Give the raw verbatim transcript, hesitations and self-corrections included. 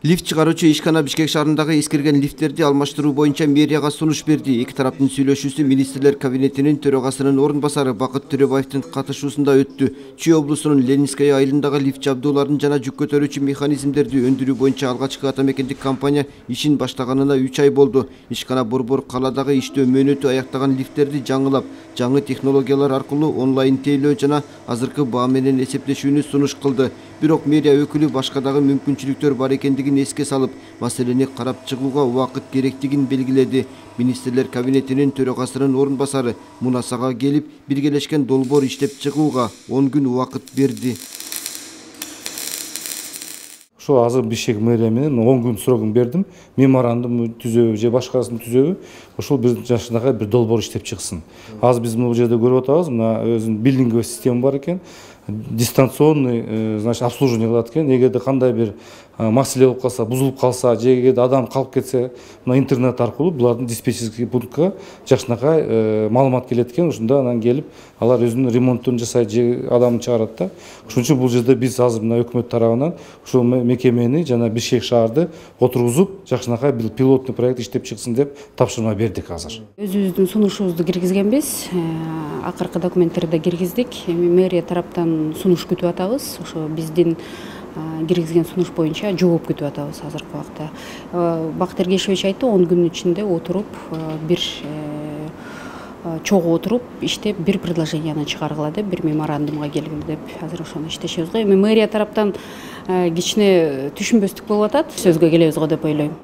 Лифт чыгаруучу ишкана Бишкек шаарындагы эскирген лифттерди алмаштыруу боюнча мэрияга сунуш берди. Эки тараптын сүйлөшүүсү министрлер кабинетинин төрагасынын орун басары Бакыт Төрөбаевдин катышуусунда өттү. Чүй облусунун Ленинская айылындагы лифт жабдууларын жана жүк көтөрүүчү механизмдерди өндүрүү боюнча алгачкы ата мекендик компания ишин баштаганына үч ай болду. Ишкана Борбор калаадагы иштөө мөөнөтү аяктаган лифттерди жаңылап, жаңы технологиялар аркылуу онлайн тейлөө жана азыркы баа менен эсептешүүнү сунуш кылды. Бирок мэрия өкүлү башка дагы мүмкүнчүлүктөр бар экендигин эске салып, маселени карап чыгууга убакыт керектигин белгиледи. Министрлер кабинетинин төрагасынын орун басары Мунасага келип, биргелешкен долбоор иштеп чыгууга он күн убакыт берди. Ошо азыр Бишкек мэрия менен он күн срогун бердим. Меморандум түзөбү же башкасын түзөбү, ошол бир жашынакай бир долбоор иштеп чыксын. Азыр биз бул жерде көрүп атабыз, мына өзүнүн билдинговый система бар экен. Дистанционный, значит, обслуживание кылат экен. Эгерде кандай бир маселе болуп калса, бузулуп калса, же эгерде адам калып кетсе, мына интернет аркылуу булардын диспетчерский пунктка жакшынакай маалымат келет экен. Ошондо анан келип, алар өзүнүн ремонтун жасайт, же адамын чыгарат да. Ошон үчүн бул жерде биз азыр мына өкмөт тарабынан ушул мекемени жана Бишкек шаарды отургузуп, жакшынакай бир пилоттук проект иштеп чыксын деп тапшырма бердик азыр. Өзүбүздүн сунушубузду киргизгенбиз. Акыркы документтерди киргиздик. Эми мэрия тараптан сунуш күтүп атабыз. Ошо биздин киргизген сунуш боюнча жооп күтүп атабыз азыркы убакта. Бакыт Эргешевич айтты, он күнүн ичинде отуруп, бир чогуу отуруп, иштеп, бир предложенияны чыгаргыла деп, бир меморандумга келгиле деп, азыр ошону иштешебиз го. Эми мэрия тараптан кичине түшүнбөстүк болуп атат. Сөзгө келебиз го деп ойлойм.